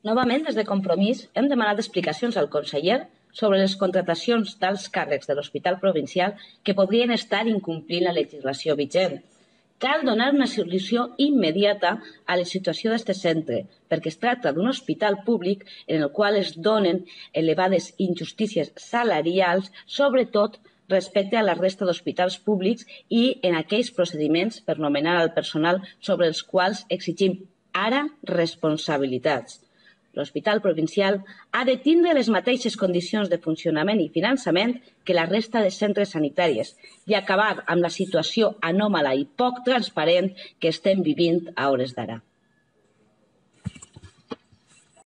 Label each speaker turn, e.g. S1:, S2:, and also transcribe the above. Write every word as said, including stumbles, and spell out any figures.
S1: Novament, des de Compromís, hem demanat explicacions al conseller sobre les contratacions d'alts càrrecs de l'Hospital Provincial que podrien estar incomplint la legislació vigent. Cal donar una solució immediata a la situació d'aquest centre, perquè es tracta d'un hospital públic en el qual es donen elevades injustícies salarials, sobretot respecte a la resta d'hospitals públics i en aquells procediments per nomenar el personal sobre els quals exigim ara responsabilitats. L'Hospital Provincial ha de tindre les mateixes condicions de funcionament i finançament que la resta de centres sanitaris i acabar amb la situació anòmala i poc transparent que estem vivint a hores d'ara.